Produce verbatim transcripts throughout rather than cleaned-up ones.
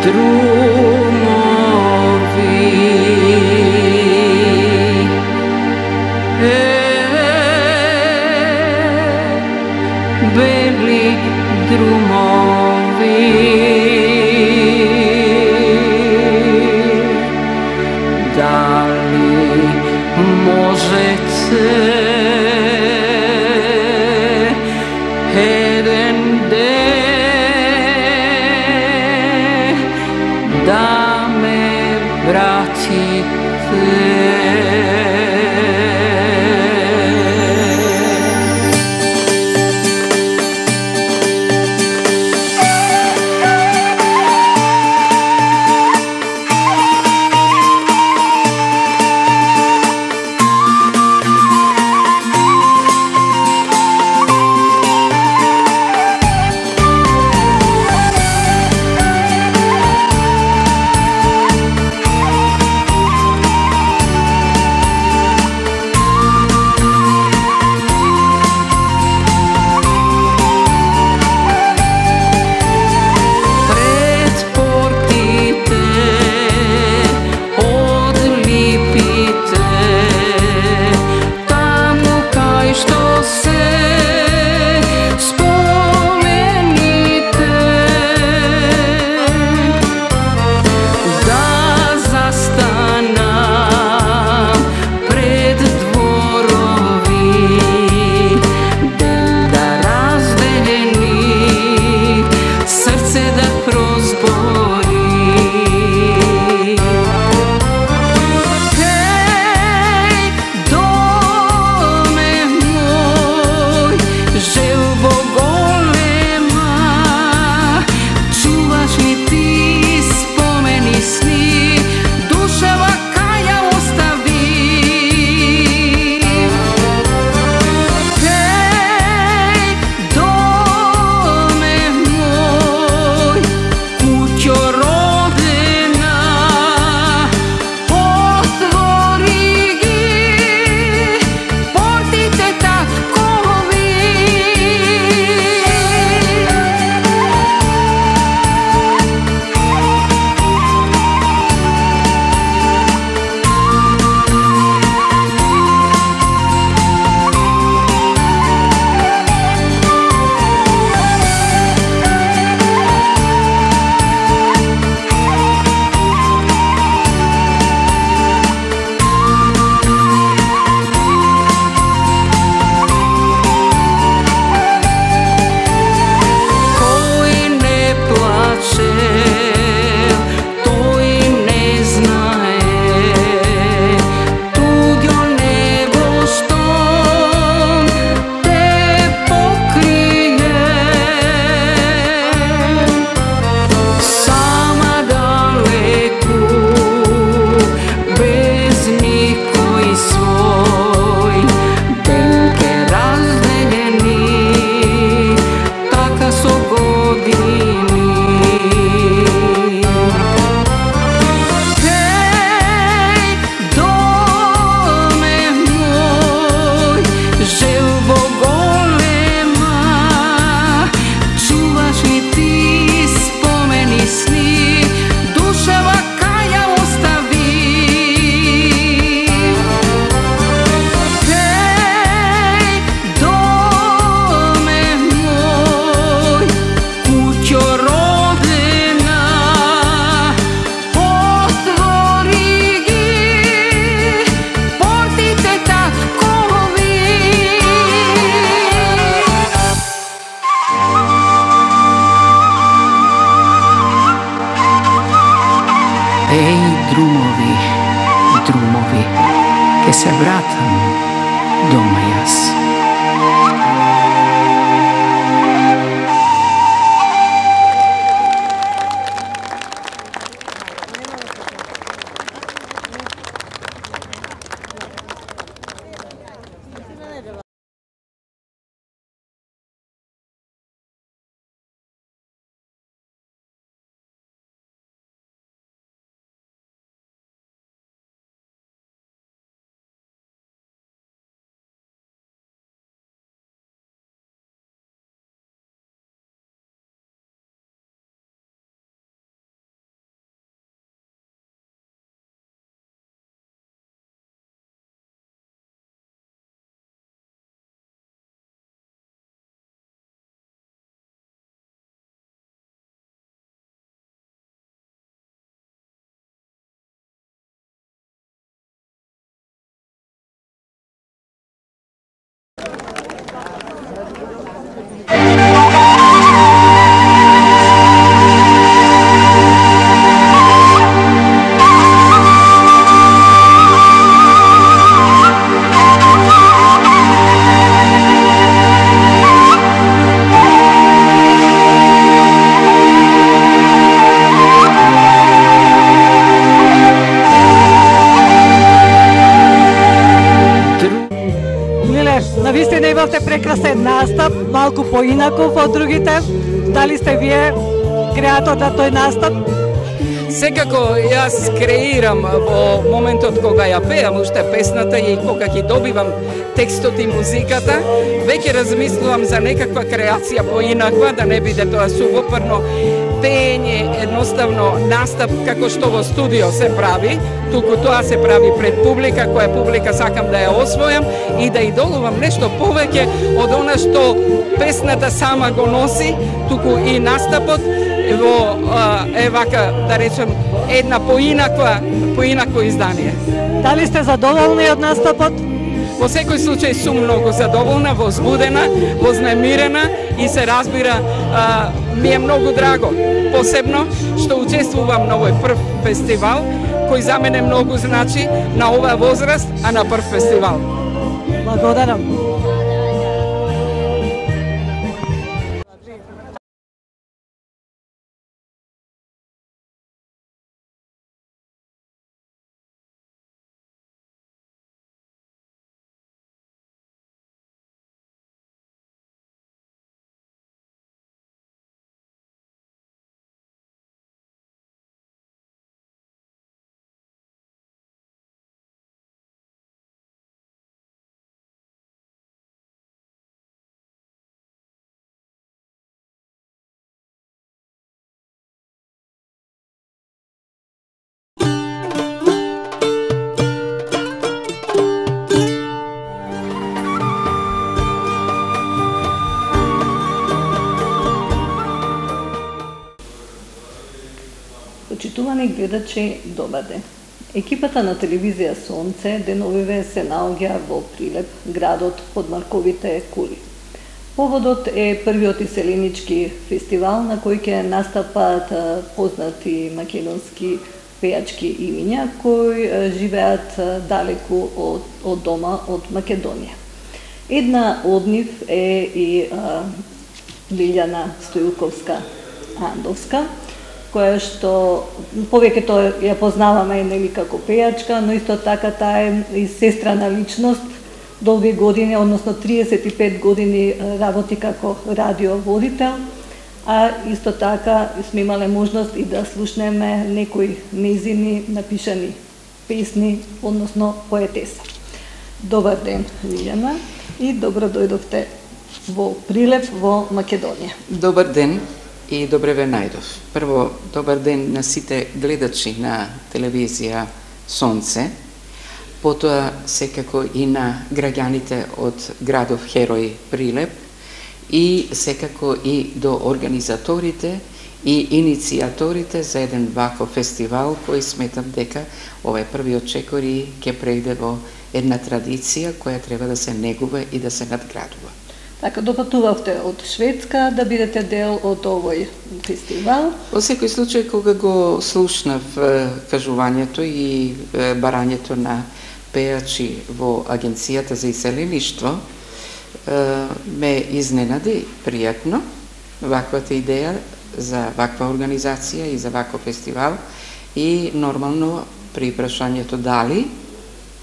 drumovi, e, beli drumovi, da li možete jedan den da me vratite? Ej, drumovi, drumovi, che se vratam doma jaz. е настап малку поинаков од другите. Дали сте вие креатор на тој настап? Секако јас креирам во моментот кога ја пеам уште песната и кога ги добивам текстот и музиката, веќе размислувам за некаква креација поинаква, да не биде тоа сувопарно пеење, едноставно настап како што во студио се прави, туку тоа се прави пред публика, која публика сакам да ја освојам и да идолувам нешто повеќе од она што песната сама го носи, туку и настапот во е вака, да речем, една поинаква, поинакво издание. Дали сте задоволни од настапот? Во секој случај сум многу задоволна, возбудена, вознемирена и се разбира, а, ми е многу драго. Посебно што учествувам на овој прв фестивал, кој за мене многу значи на оваа возраст, а на прв фестивал. Благодарам. Почитувани гледачи, добар ден. Екипата на телевизија Сонце деновиве се наоѓа во Прилеп, градот под Марковите кули. Поводот е првиот иселенички фестивал на кој ќе настапат познати македонски пејачки имиња кои живеат далеку од, од дома, од Македонија. Една од нив е и а, Лилјана Стојуковска Андовска, која што повеќето ја познаваме нели како пејачка, но исто така таа е и сестрана личност, долги години, односно триесет и пет години работи како радиоводител, а исто така сме имале можност и да слушнеме некои нејзини напишани песни, односно поетеса. Добар ден, Лилјана, и добро дојдовте во Прилеп, во Македонија. Добар ден и добре ве најдов. Прво, добар ден на сите гледачи на телевизија Сонце, потоа секако и на граѓаните од градов Херој Прилеп и секако и до организаторите и иницијаторите за еден ваков фестивал кој сметам дека овој првиот чекор и ќе прејде во една традиција која треба да се негува и да се надградува. Така, допатувавте од Шведска да бидете дел од овој фестивал? Во секој случај, кога го слушнав кажувањето и барањето на пејачи во Агенцијата за иселеништво, ме изненади пријатно ваквата идеја за ваква организација и за ваков фестивал и нормално при прашањето дали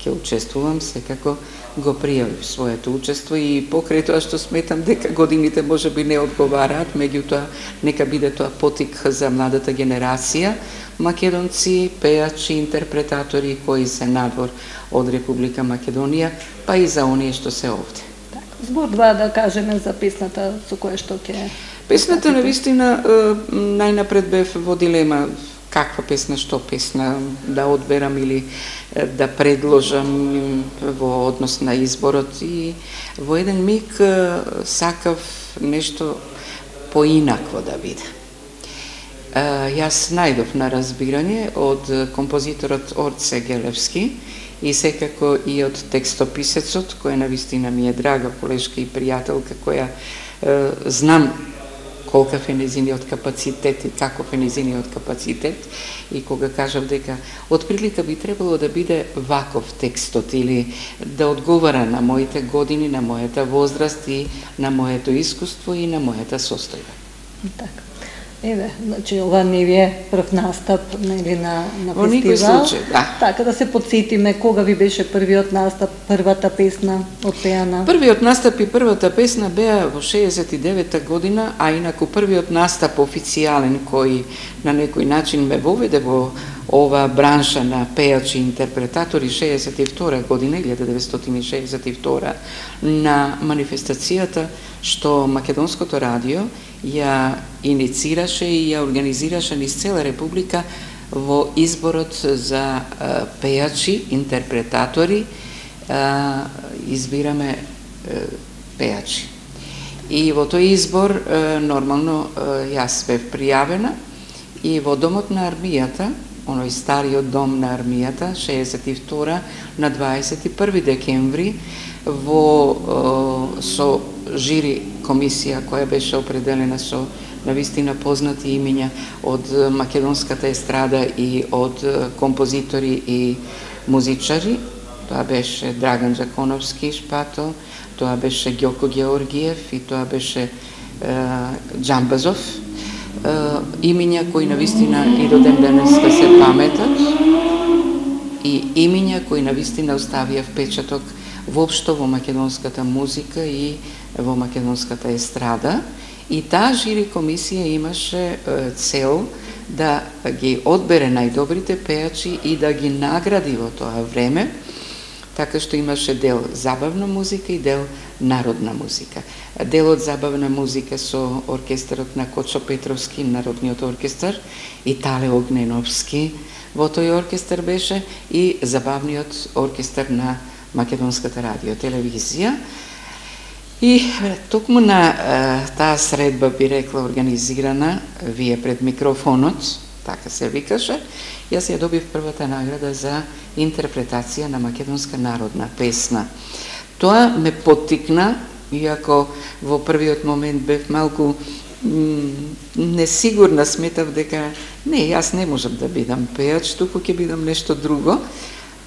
ќе учествувам, секако го пријавив своето учество и покрај тоа што сметам дека годините можеби не одговараат, меѓутоа нека биде тоа потик за младата генерација, македонци, пејачи, интерпретатори кои се надвор од Република Македонија, па и за оние што се овде. Збор два да кажеме за песната со која што ќе... Песната навистина најнапред бев во дилема каква песна, што песна да одберам или да предложам во однос на изборот и во еден миг сакав нешто поинакво да биде. Јас најдов на разбирање од композиторот Орце Гелевски и секако и од текстописецот, која навистина ми е драга колешка и пријателка, која е, знам колкав е незиниот капацитет и каков е незиниот капацитет, и кога кажав дека од прилика би требало да биде ваков текстот или да одговара на моите години, на мојата возраст и на моето искуство и на мојата состојба. Така. Еве, значи ова не ви е прв настап нели на на Во никој фестивал. случај, да. Така да се потсетиме кога ви беше првиот настап, првата песна отпеана. Првиот настап и првата песна беа во шеесет и девета година, а инаку првиот настап официјален кој на некој начин ме воведе во ова бранша на пејачи и интерпретатори шеесет и втора година, илјада деветстотини и шеесет и втора, на манифестацијата што Македонското радио ја иницираше и ја организираше низ цела република во изборот за пејачи, интерпретатори, избираме пејачи. И во тој избор нормално јас бев пријавена и во домот на армијата, оној стариот дом на армијата, шеесет и втора, на дваесет и први декември, во со жири комисија која беше определена со навистина познати имиња од македонската естрада и од композитори и музичари. Тоа беше Драган Джаконовски Шпато, тоа беше Ѓоко Георгиев и тоа беше е, Џамбазов. Е, имиња кои навистина и до ден денеска се паметат и имиња кои навистина оставија впечаток воопшто во македонската музика и во македонската естрада. И таа жири комисија имаше е, цел да ги одбере најдобрите пејачи и да ги награди во тоа време, така што имаше дел забавна музика и дел народна музика. Делот забавна музика со оркестарот на Кочо Петровски, Народниот оркестар, и Тале Огненовски во тој оркестар беше, и забавниот оркестар на Македонската радио телевизија. И токму на е, таа средба, би рекла, организирана вие пред микрофонот, така се викаше, јас ја добив првата награда за интерпретација на македонска народна песна. Тоа ме поттикна, иако во првиот момент бев малку несигурна, сметав дека не, јас не можам да бидам пејач, туку ќе бидам нешто друго.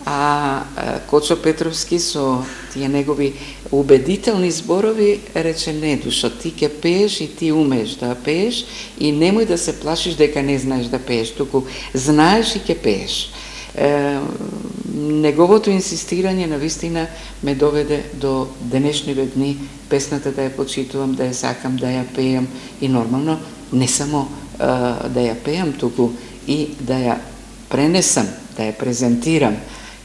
А Кочо Петровски со тие негови убедителни зборови рече: не, душо, ти ќе пееш и ти умееш да пееш и немој да се плашиш дека не знаеш да пееш, туку знаеш и ќе пееш. Е, неговото инсистирање навистина ме доведе до денешниве дни песната да ја почитувам, да ја сакам, да ја пеам и нормално не само е, да ја пеам, туку и да ја пренесам, да ја презентирам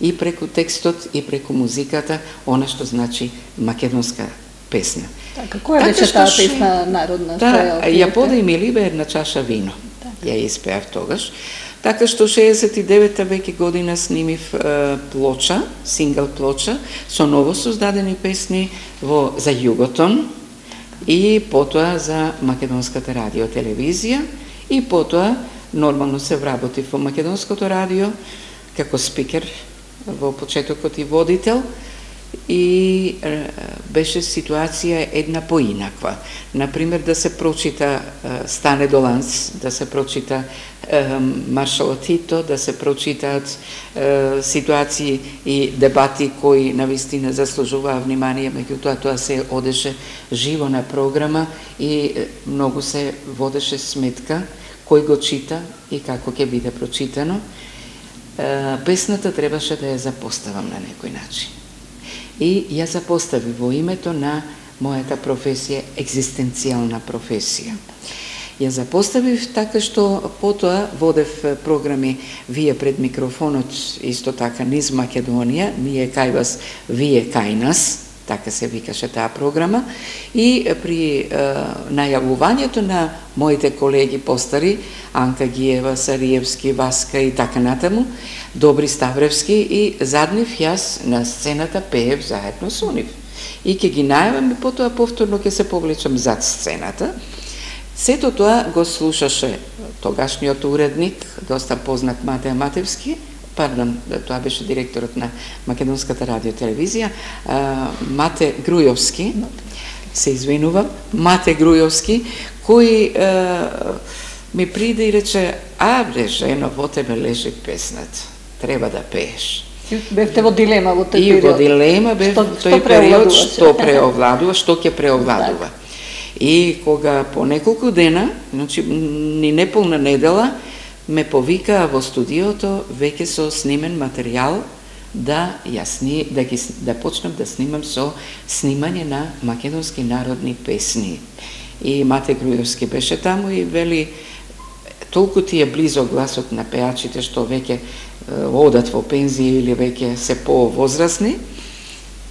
и преку текстот и преку музиката, она што значи македонска песна. Така, која беше таа песна народна? Да, ја подај ми либе една чаша вино. Така. Ја испеав тогаш. Така што шеесет и девета веќе година снимив е, плоча, сингл плоча, со ново создадени песни во за Југотон и потоа за Македонската радио телевизија и потоа нормално се вработив во Македонското радио како спикер во почетокот и водител, и е, беше ситуација една поинаква. Например, да се прочита е, Стане Доланс, да се прочита е, Маршал Тито, да се прочитаат е, ситуации и дебати кои навистина заслужуваа внимание, меѓутоа тоа се одеше живо на програма и е, многу се водеше сметка кој го чита и како ќе биде прочитано. Песната требаше да ја запоставам на некој начин. И ја запостави во името на мојата професија, екзистенцијална професија. Ја запоставив така што потоа водев програми вие пред микрофонот, исто така низ Македонија, ние кај вас, вие кај нас, така се викаше таа програма, и при е, најавувањето на моите колеги постари, Анка Гиева, Сариевски, Васка и така натаму, Добри Ставревски, и заднив јас на сцената пеев заедно со нив. И ќе ги најавам и потоа повторно ќе се повлечам зад сцената. Сето тоа го слушаше тогашниот уредник, доста познат Матеј Матевски, пардон, тоа беше директорот на Македонската радио телевизија, Мате Грујовски, се извинувам, Мате Грујовски, кој ми приде и рече: а бре, жено, во тебе лежи песната, треба да пееш. Бевте во дилема во тој период. И во дилема бев што, тој што период, што преовладува, што ќе преовладува. И кога по неколку дена, значи ни неполна недела, ме повикаа во студиото веќе со снимен материјал да ја сни, да ги да почнам да снимам со снимање на македонски народни песни. И Мате Груевски беше таму и вели толку ти е близо гласот на пеачите што веќе одат во пензија или веќе се повозрасни,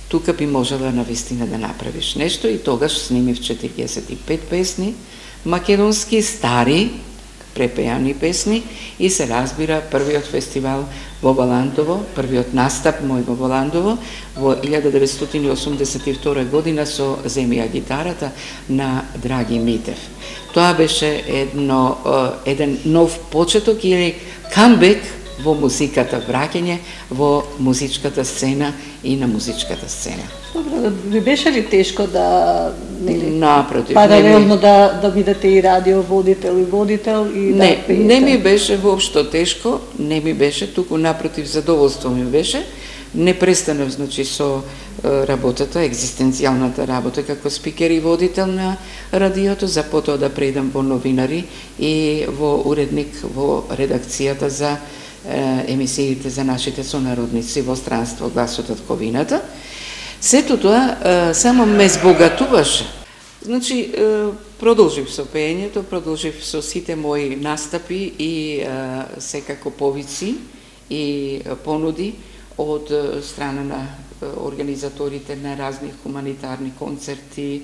тука би можела навистина да направиш нешто и тогаш снимив четириесет и пет песни, македонски стари препеани песни и се разбира првиот фестивал во Баландово, првиот настап мој во Баландово во илјада деветстотини и осумдесет и втора година со Земи ја гитарата на Драги Митев. Тоа беше едно еден нов почеток или камбек во музиката, враќање во музичката сцена и на музичката сцена. Добро, ви беше ли тешко да нели напротив, паралелно ми... да да бидете и радиоводител и водител и не, да пеете? Не ми беше воопшто тешко, не ми беше, туку напротив задоволство ми беше. Не престанав значи со работата, екзистенцијалната работа како спикер и водител на радиото, за потоа да предам во новинари и во уредник во редакцијата за емисиите за нашите сонародници во странство Гласот од Ковината. Сето тоа само ме збогатуваше. Значи, продолжив со пеењето, продолжив со сите мои настапи и секако повици и понуди од страна на организаторите на разни хуманитарни концерти,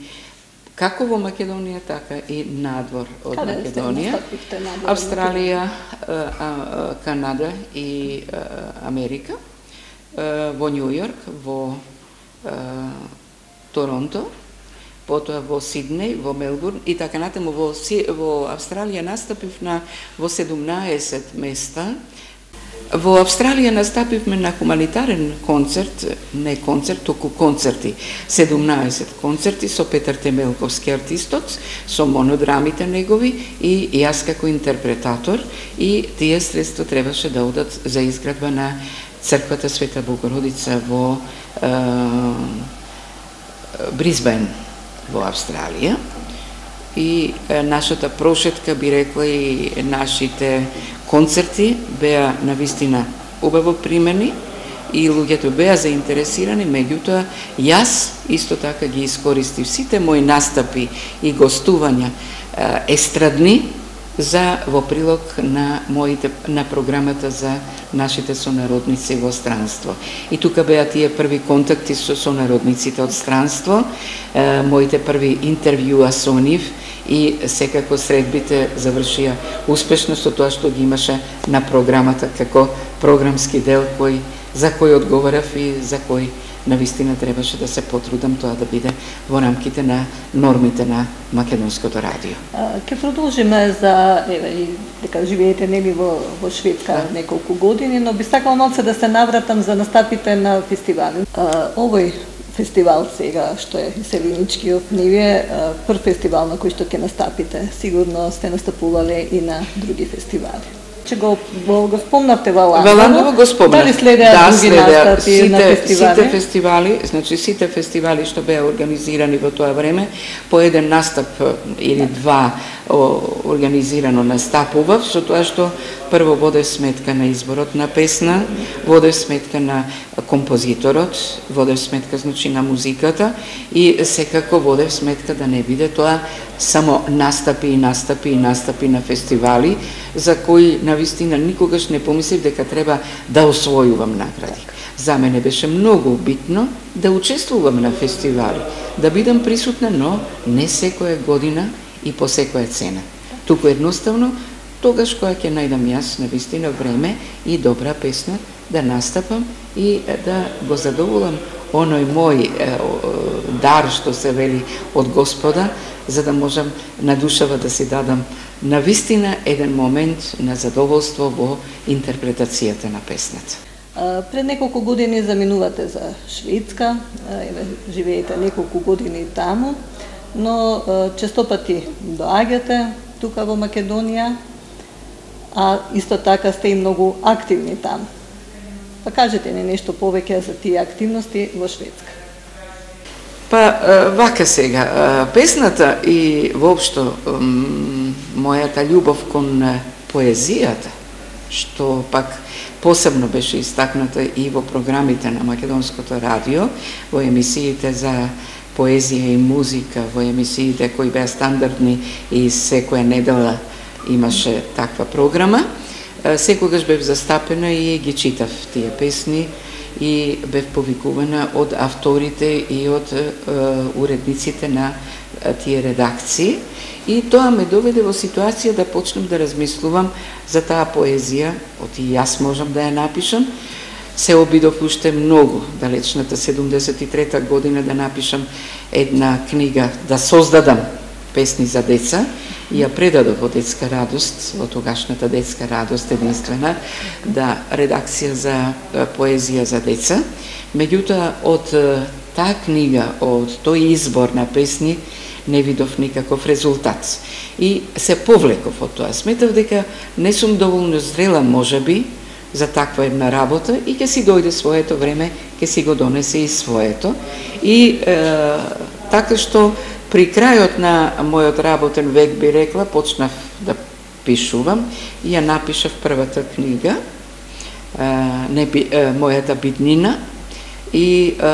како во Македонија, така и надвор од Каде Македонија. Австралија, Канада и Америка, во Њу Јорк, во Торонто, потоа во Сиднеј, во Мелбурн и така натаму. Во, во Австралија настапив на во седумнаесет места. Во Австралија настапивме на хуманитарен концерт, не концерт, току концерти, седумнаесет концерти со Петар Темелковски артистот, со монодрамите негови и јас како интерпретатор, и тие средства требаше да одат за изградба на црквата Света Богородица во е, Бризбен во Австралија. И е, нашата прошетка, би рекла, и нашите концерти беа навистина убаво примени и луѓето беа заинтересирани, меѓутоа јас исто така ги искористив сите мои настапи и гостувања е, естрадни за во прилог на моите на програмата за нашите сонародници во странство. И тука беа тие први контакти со сонародниците од странство, е, моите први интервјуа со нив и секако средбите завршија успешно со тоа што ги имаше на програмата како програмски дел кој за кој одговарав и за кој навистина требаше да се потрудам тоа да биде во рамките на нормите на македонското радио. Ќе продолжиме за еве дека живеете нели во во Шведска да. неколку години, но би сакала малце да се навратам за настапите на фестивали. А, овој фестивал сега што е Иселиничкиот нив е прв фестивал на кој што ќе настапите. Сигурно сте настапувале и на други фестивали. Че го, го, го спомнавте во Ландово. Ландово го спомнав. Дали следеа да, други следеа настапи сите, на фестивали? Сите фестивали, значи сите фестивали што беа организирани во тоа време, по еден настап или два о, организирано настапував, со тоа што прво водев сметка на изборот на песна, водев сметка на композиторот, водев сметка значи на музиката и секако водев сметка да не биде тоа само настапи и настапи и настапи на фестивали за кои навистина никогаш не помислив дека треба да освојувам награди. За мене беше многу битно да учествувам на фестивали, да бидам присутна, но не секоја година и по секоја цена. Туку едноставно тогаш кога ќе најдам јас навистина време и добра песна да настапам и да го задоволам оној мој е, дар што се вели од Господа, за да можам на душава да си дадам навистина еден момент на задоволство во интерпретацијата на песната. Пред неколку години заминувате за Шведска, живеете неколку години таму, но честопати доаѓате тука во Македонија, а исто така сте и многу активни таму. Па кажете ни нешто повеќе за тие активности во Шведска. Па, вака сега, песната и воопшто мојата љубов кон поезијата, што пак посебно беше истакната и во програмите на Македонското радио, во емисиите за поезија и музика, во емисиите кои беа стандардни и секоја недела имаше таква програма, секогаш бев застапена и ги читав тие песни и бев повикувана од авторите и од е, уредниците на тие редакции. И тоа ме доведе во ситуација да почнем да размислувам за таа поезија, од и јас можам да ја напишам. Се обидов уште многу, далечната седумдесет и трета година, да напишам една книга, да создадам песни за деца, и ја предадов во Детска радост, во тогашната Детска радост единствена, да редакција за поезија за деца. Меѓутоа, од таа книга, од тој избор на песни, не видов никаков резултат. И се повлеков од тоа. Сметав дека не сум доволно зрела, можеби, за таква една работа и ќе си дојде своето време, ќе си го донесе и своето. И е, така што при крајот на мојот работен век, би рекла, почнав да пишувам и ја напишав првата книга, е, не, е, мојата биднина, и е,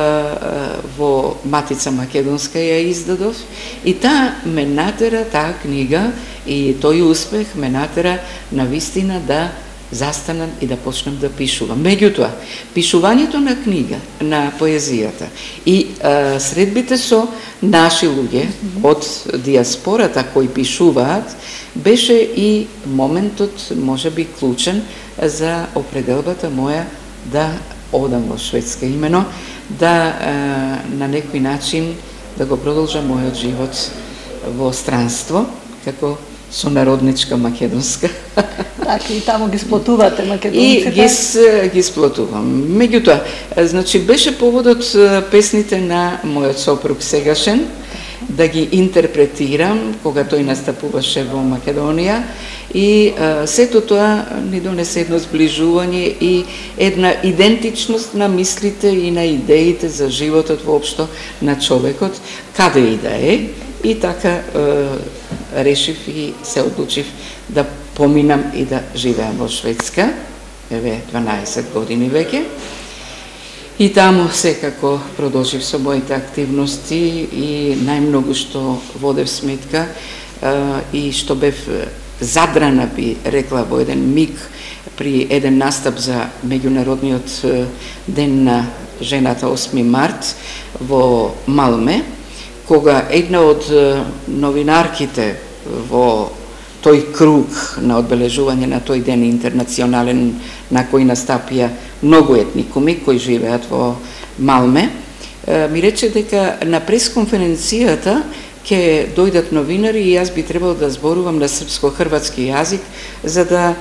во Матица Македонска ја издадов, и таа ме натера, таа книга и тој успех ме натера на вистина да застанам и да почнам да пишувам. Меѓутоа, пишувањето на книга, на поезијата и е, средбите со наши луѓе од диаспората кои пишуваат, беше и моментот, можеби клучен, за определбата моја да одам во Шведска, имено да е, на некој начин да го продолжам мојот живот во странство, како сонародничка македонска. Така, и таму ги сплотувате македонците? И ги, ги сплотувам. Меѓутоа, значи, беше поводот песните на мојот сопруг сегашен, да ги интерпретирам, кога тој настапуваше во Македонија, и а, сето тоа ни донесе едно сближување и една идентичност на мислите и на идеите за животот воопшто на човекот, каде и да е. И така е, решив и се одлучив да поминам и да живеам во Шведска, еве дванаесет години веќе. И таму секако продолжив со моите активности и најмногу што водев сметка е, и што бев задрана, би рекла, во еден миг при еден настап за меѓународниот ден на жената осми март во Малме, кога една од новинарките во тој круг на одбележување на тој ден интернационален, на кој настапија многу етникуми кои живеат во Малме, ми рече дека на пресконференцијата ќе дојдат новинари и јас би требало да зборувам на српско-хрватски јазик за да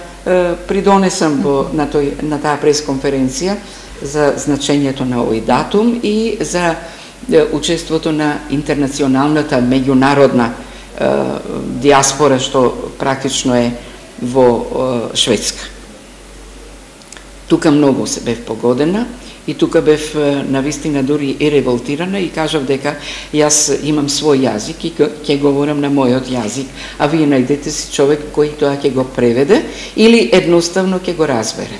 придонесам во, на, тој, на таа пресконференција за значењето на овој датум и за учеството на интернационалната меѓународна е, диаспора што практично е во е, Шведска. Тука многу се бев погодена и тука бев е, навистина дури и револтирана и кажав дека јас имам свој јазик и ќе говорам на мојот јазик, а вие најдете си човек кој тоа ќе го преведе или едноставно ќе го разбере.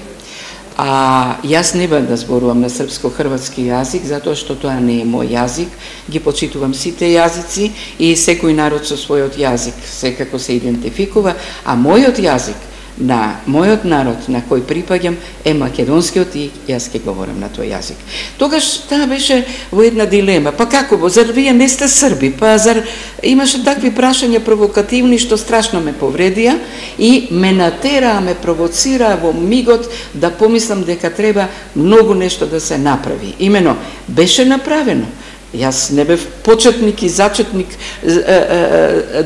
А јас не бам да зборувам на српско-хрватски јазик, затоа што тоа не е мој јазик. Ги почитувам сите јазици и секој народ со својот јазик секако се идентификува, а мојот јазик на мојот народ на кој припаѓам е македонскиот и јас ќе говорам на тој јазик. Тогаш таа беше во една дилема. Па како, зар вие не сте срби? Па зар имаше такви прашања провокативни што страшно ме повредија и ме натераа, ме провоцираа во мигот да помислам дека треба многу нешто да се направи. Имено, беше направено. Јас не бев почетник и зачетник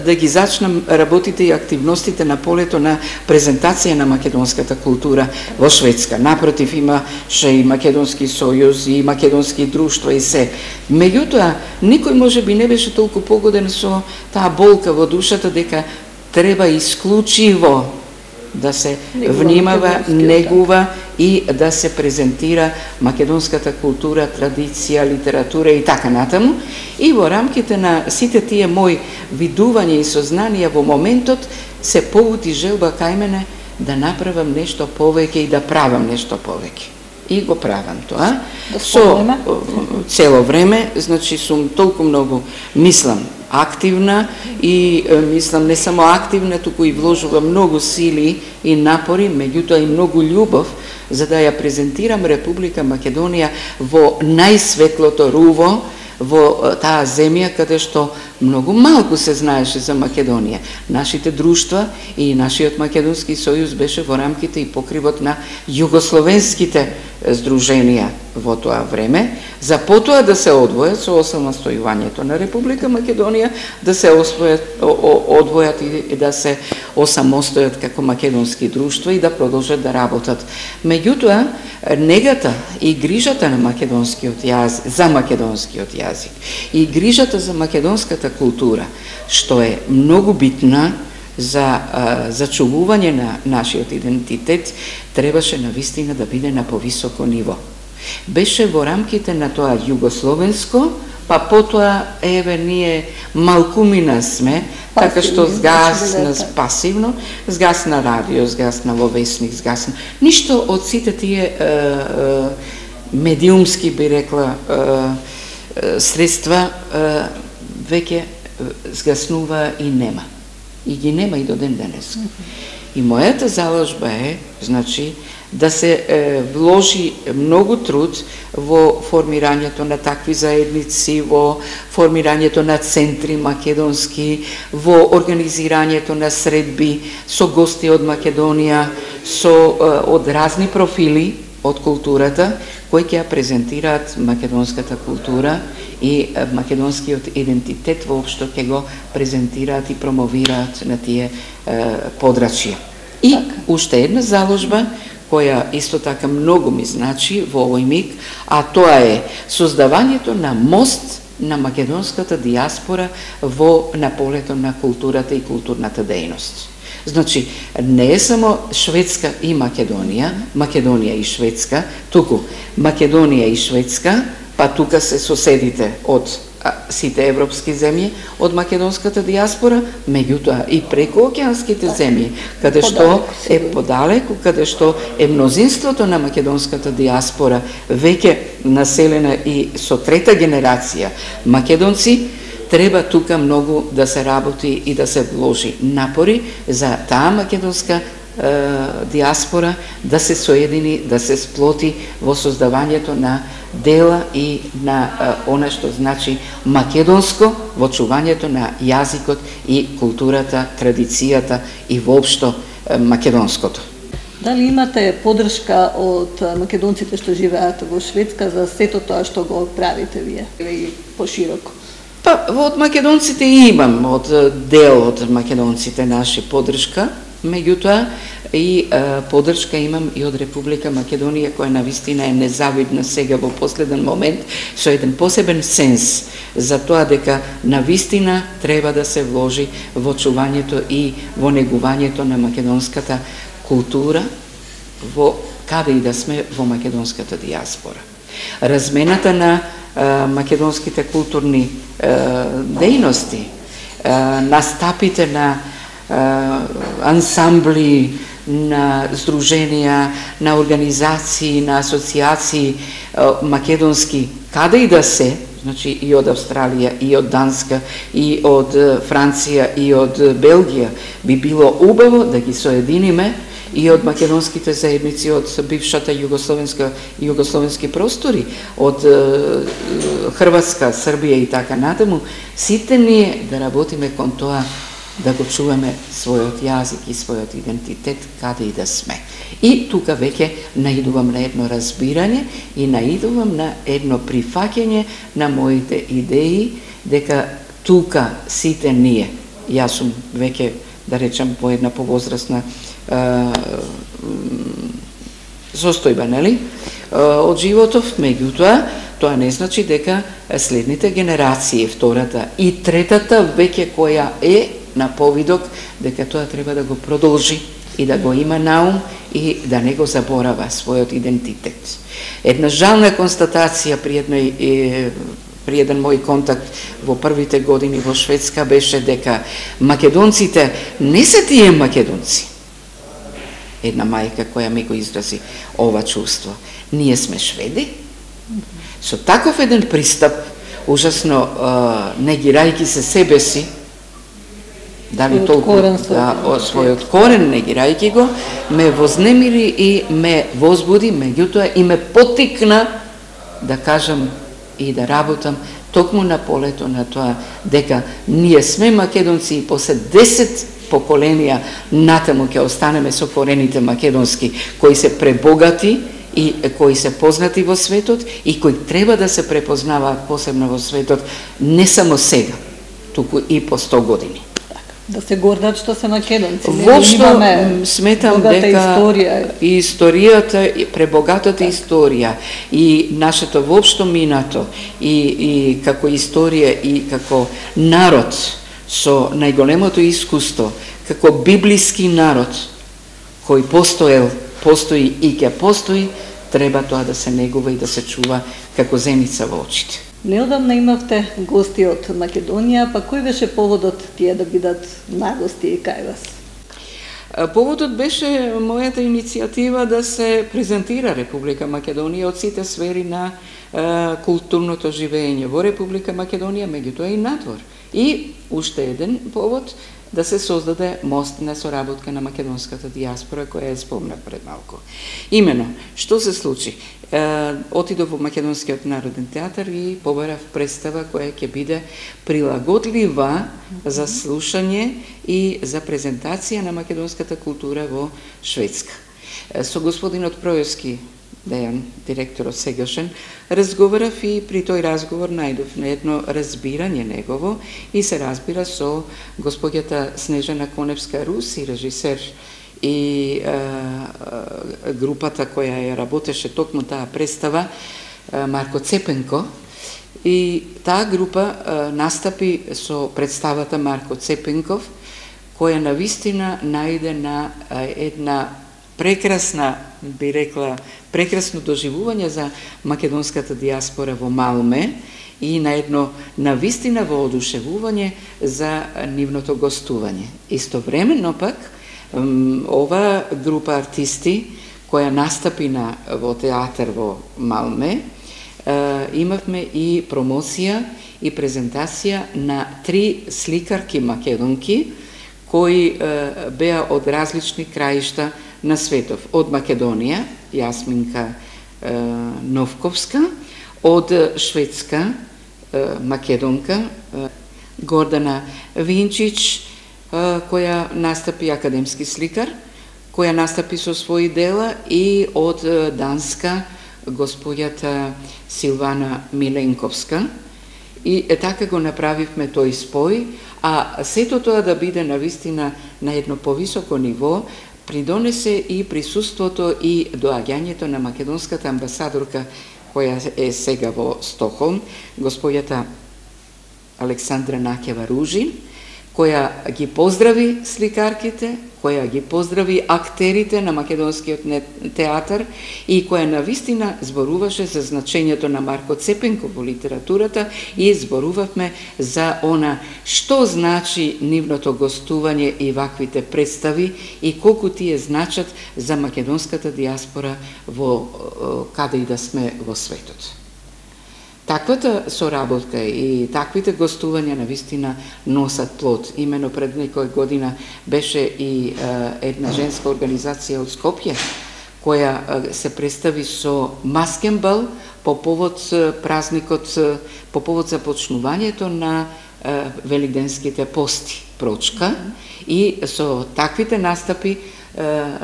да ги зачнам работите и активностите на полето на презентација на македонската култура во Шведска. Напротив, имаше и Македонски сојуз и македонски друштва и се. Меѓутоа, никој можеби не беше толку погоден со таа болка во душата дека треба исклучиво да се внимава, негува и да се презентира македонската култура, традиција, литература и така натаму. И во рамките на сите тие мои видувања и сознанија во моментот се побуди желба кај мене да направам нешто повеќе и да правам нешто повеќе. И го правам тоа. Да Со цело време, значи сум толку многу мислам активна и мислам не само активна, туку и вложувам многу сили и напори, меѓутоа и многу љубов за да ја презентирам Република Македонија во најсветлото руво, во таа земја каде што многу малку се знаеше за Македонија. Нашите друштва и нашиот Македонски сојуз беше во рамките и покривот на југословенските здруженија во тоа време, за потоа да се одвојат со осамостојувањето на Република Македонија, да се освојат, одвојат и да се осамостојат како македонски друштва и да продолжат да работат. Меѓутоа, негата и грижата на македонскиот јазик, за македонскиот јазик и грижата за македонската култура, што е многу битна за зачувување на нашиот идентитет, требаше навистина да биде на повисоко ниво. Беше во рамките на тоа југословенско, па потоа, еве, ние малкумина сме, така што згасна пасивно, згасна радио, згасна во весник, згасна. Ништо од сите тие е, е, медиумски, би рекла, е, е, средства е, веќе згаснува и нема. И ги нема и до ден денес. И мојата заложба е, значи, да се е, вложи многу труд во формирањето на такви заедници, во формирањето на центри македонски, во организирањето на средби со гости од Македонија, со е, од разни профили од културата, кои ќе ја презентираат македонската култура и македонскиот идентитет воопшто ќе го презентираат и промовираат на тие е, подрачја. И така, уште една заложба која исто така многу ми значи во овој миг, а тоа е создавањето на мост на македонската диаспора во на полето на културата и културната дејност. Значи, не е само Шведска и Македонија, Македонија и Шведска, туку Македонија и Шведска, па тука се соседите од сите европски земји, од македонската диаспора, меѓутоа и прекоокеанските земји, каде што е подалеку, каде што е мнозинството на македонската диаспора веќе населена и со трета генерација македонци, треба тука многу да се работи и да се вложи напори за таа македонска е, диаспора да се соедини, да се сплоти во создавањето на дела и на е, она што значи македонско, во чувањето на јазикот и културата, традицијата и воопшто е, македонското. Дали имате поддршка од македонците што живеат во Шведска за сето тоа што го правите вие и пошироко? Па, од македонците имам, од дел од македонците наши поддршка, меѓутоа и е, поддршка имам и од Република Македонија, која навистина е незавидна сега во последен момент, со еден посебен сенс за тоа дека навистина треба да се вложи во чувањето и во негувањето на македонската култура, во каде и да сме во македонската диаспора. Размената на е, македонските културни е, дејности, е, настапите на е, ансамбли, на здруженија, на организации, на асоциации е, македонски, каде и да се, значи и од Австралија, и од Данска, и од Франција, и од Белгија, би било убаво да ги соединиме и од македонските заедници од бившата југословенска и југословенски простори, од е, Хрватска, Србија и така натаму, сите ние да работиме кон тоа да го чуваме својот јазик и својот идентитет каде и да сме. И тука веќе наидувам на едно разбирање и наидувам на едно прифаќање на моите идеи дека тука сите ние, јас сум веќе, да речам, по една повозрасна состојба, нели, од животов, меѓутоа, тоа не значи дека следните генерации, втората и третата веќе која е на повидок, дека тоа треба да го продолжи и да го има наум и да не го заборава својот идентитет. Една жална констатација при едној е, при еден мој контакт во првите години во Шведска беше дека македонците не се тие македонци. Една мајка која ми го изрази ова чувство. Ние сме шведи. Со таков еден пристап, ужасно негирајќи се себе си, дали толку да, својот корен, негирајќи го, ме вознемири и ме возбуди, меѓутоа и ме потикна да кажам и да работам токму на полето на тоа дека ние сме македонци и после десет поколенија натаму ќе останеме со корените македонски, кои се пребогати и кои се познати во светот и кои треба да се препознаваат посебно во светот не само сега, туку и по сто години. Да се гордат што се македонци. Вошто сметам дека историја. И историјата, и пребогатата историја и нашето воопшто минато и, и како историја и како народ со најголемото искуство, како библиски народ кој постоел, постои и ќе постои, треба тоа да се негува и да се чува како зеница во очите. Неодамна имавте гости од Македонија, па кој беше поводот тие да бидат нагости кај вас? Поводот беше мојата иницијатива да се презентира Република Македонија од сите сфери на е, културното живење во Република Македонија, меѓутоа и надвор. И уште еден повод да се создаде мост на соработка на македонската диаспора, која е спомнав пред малку. Имено, што се случи? Е, отидов во Македонскиот народен театар и побарав представа која ќе биде прилагодлива за слушање и за презентација на македонската култура во Шведска. Е, со господинот Проевски, Дејан, директорот сегашен, разговарав и при тој разговор најдов на едно разбирање негово и се разбира со господјата Снежана Коневска-Руси, режисер и е, групата која ја работеше токму таа представа, е, Марко Цепенко, и таа група е, настапи со представата Марко Цепенков, која навистина најде на е, една прекрасна, би рекла, прекрасно доживување за македонската диаспора во Малме и на едно навистина воодушевување за нивното гостување. Истовремено пак, ова група артисти која настапи на, во театар во Малме, имавме и промоција и презентација на три сликарки македонки кои беа од различни краишта на светов. Од Македонија, Јасминка е, Новковска, од Шведска, е, македонка, е, Гордана Винчич, е, која настапи академски сликар, која настапи со своји дела, и од Данска, господјата Силвана Миленковска. И е, така го направивме тој спој, а сето тоа да биде навистина на едно повисоко ниво, придонесе и присуството и доаѓањето на македонската амбасадорка која е сега во Стокхолм, господјата Александра Накева Ружин, која ги поздрави сликарките, која ги поздрави актерите на македонскиот театар и која навистина зборуваше за значењето на Марко Цепенко во литературата и зборувавме за она што значи нивното гостување и ваквите представи и колку тие значат за македонската диаспора во каде и да сме во светот. Таквата соработка и таквите гостувања навистина носат плод. Имено пред некоја година беше и е, една женска организација од Скопје, која е, се представи со маскен бал по повод празникот, по повод започнувањето на е, великденските пости, прочка, и со таквите настапи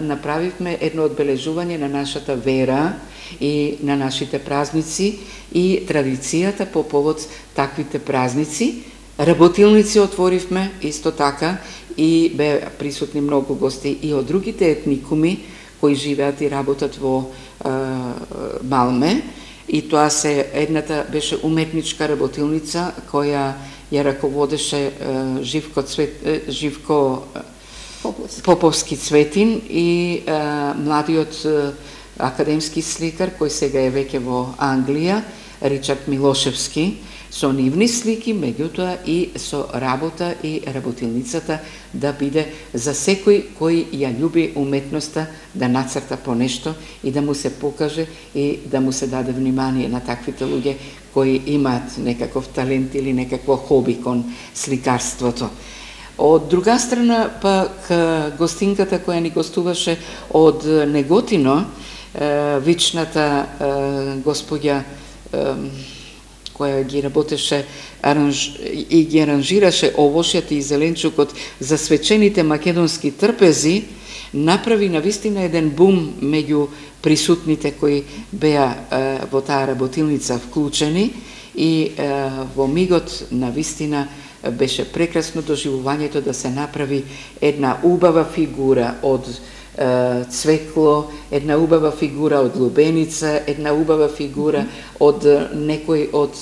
направивме едно одбележување на нашата вера и на нашите празници и традицијата по повод таквите празници. Работилници отворивме исто така и бе присутни многу гости и од другите етникуми кои живеат и работат во е, Малме. И тоа се едната беше уметничка работилница која ја раководеше е, Живко Цвет, е, Живко Поповски. Поповски Цветин и а, младиот а, академски сликар кој сега е веќе во Англија, Ричард Милошевски, со нивни слики, меѓутоа и со работа и работилницата да биде за секој кој ја љуби уметноста да нацрта по нешто и да му се покаже и да му се даде внимание на таквите луѓе кои имаат некаков талент или некакво хоби кон сликарството. Од друга страна, пак гостинката која ни гостуваше од Неготино, вичната господја која ги работеше аранж... и ги аранжираше овошјата и зеленчукот за свечените македонски трпези, направи навистина еден бум меѓу присутните кои беа е, во таа работилница вклучени и е, во мигот навистина беше прекрасно доживувањето да се направи една убава фигура од цвекло, една убава фигура од лубеница, една убава фигура од некој од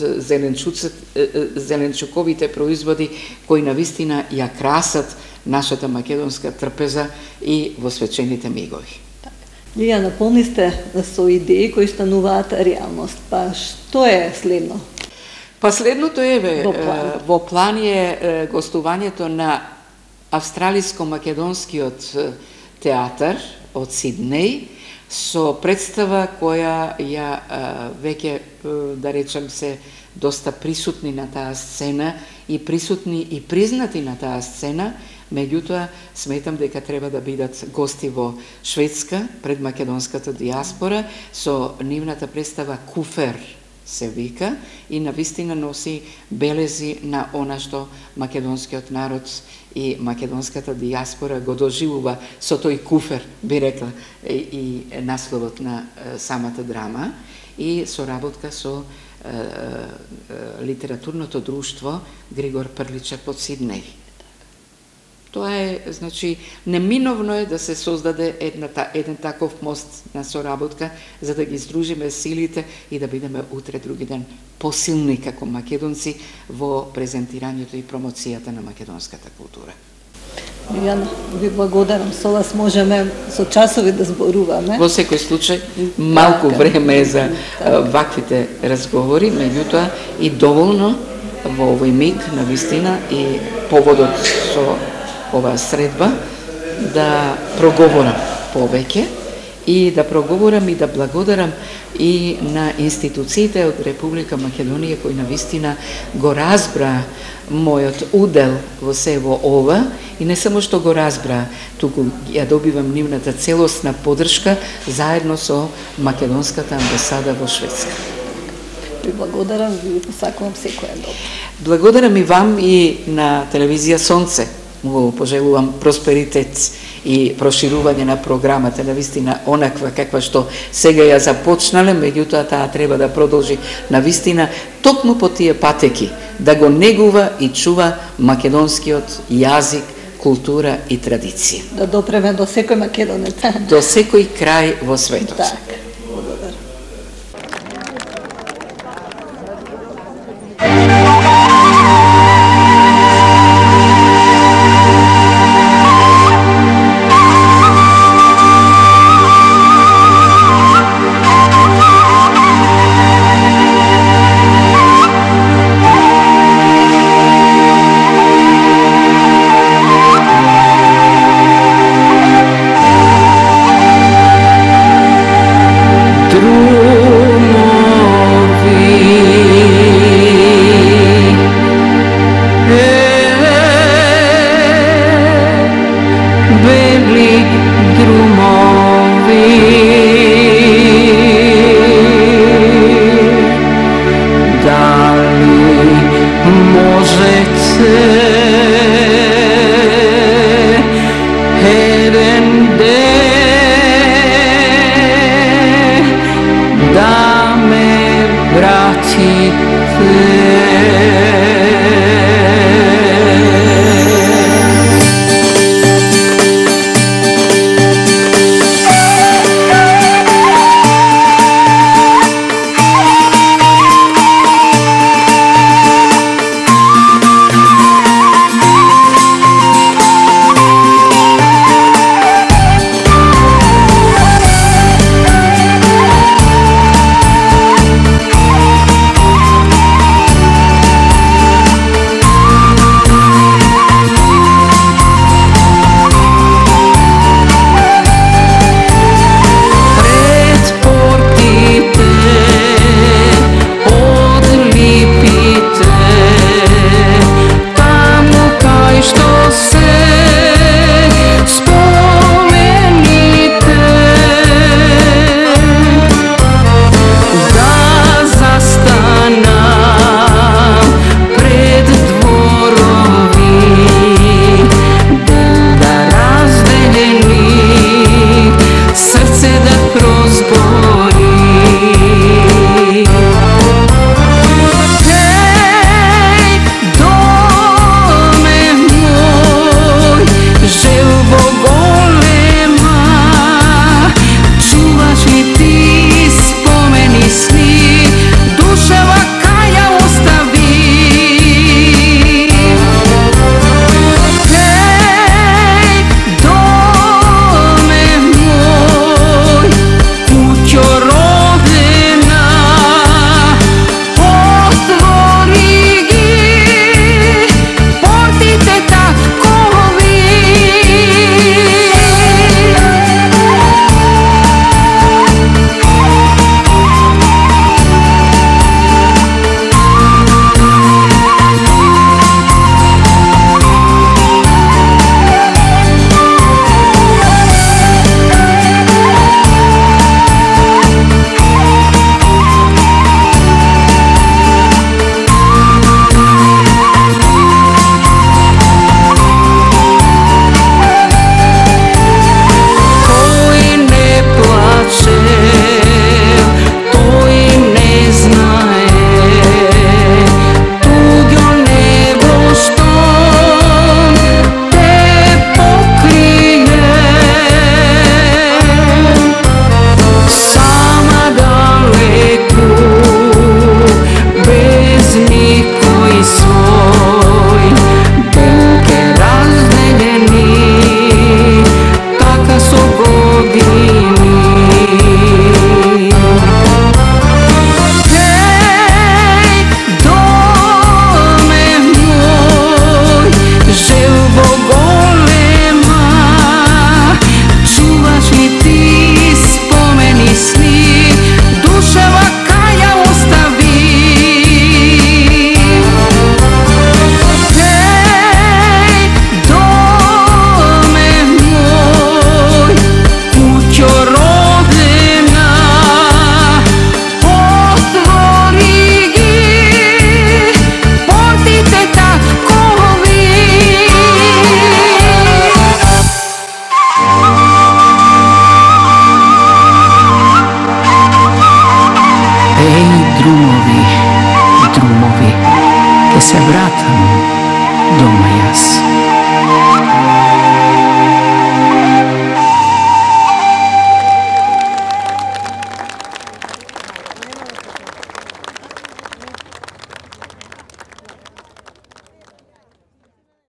зеленчуковите производи кои навистина ја красат нашата македонска трпеза и во свечените мигови. Лија, наполни сте со идеи кои стануваат реалност. Па што е следно? Па следното е ве, Во план. во план е гостувањето на австралиско-македонскиот театар од Сиднеј со представа која ја веќе, да речем, се доста присутни на таа сцена и присутни и признати на таа сцена, меѓутоа сметам дека треба да бидат гости во Шведска пред македонската диаспора со нивната представа Куфер се вика и навистина носи белези на она што македонскиот народ и македонската диаспора го доживува со тој куфер, би рекла, и, и насловот на е, самата драма и соработка со е, е, литературното друштво Григор Прличев од Сиднеј. Тоа е, значи, неминовно е да се создаде една, еден таков мост на соработка за да ги здружиме силите и да бидеме утре други ден посилни како македонци во презентирањето и промоцијата на македонската култура. Јана, ви благодарам. Со вас можеме со часови да зборуваме. Во секој случај, малку Така. време е за а, ваквите разговори, меѓутоа и доволно во овој миг на вистина и поводот со оваа средба да проговорам повеќе и да проговорам и да благодарам и на институциите од Република Македонија кои навистина го разбра мојот удел во се во ова и не само што го разбра, туку ја добивам нивната целосна поддршка заедно со македонската амбасада во Шведска. Ви благодарам, ви посакувам секој добро. Благодарам и вам и на телевизија Сонце. Му пожелувам просперитет и проширување на програмата, навистина онаква каква што сега ја започнале, меѓутоа таа треба да продолжи навистина токму по тие патеки, да го негува и чува македонскиот јазик, култура и традиција. Да допреме до секој македонец. До секој крај во светот. Така. Благодарам. вратам дома јас.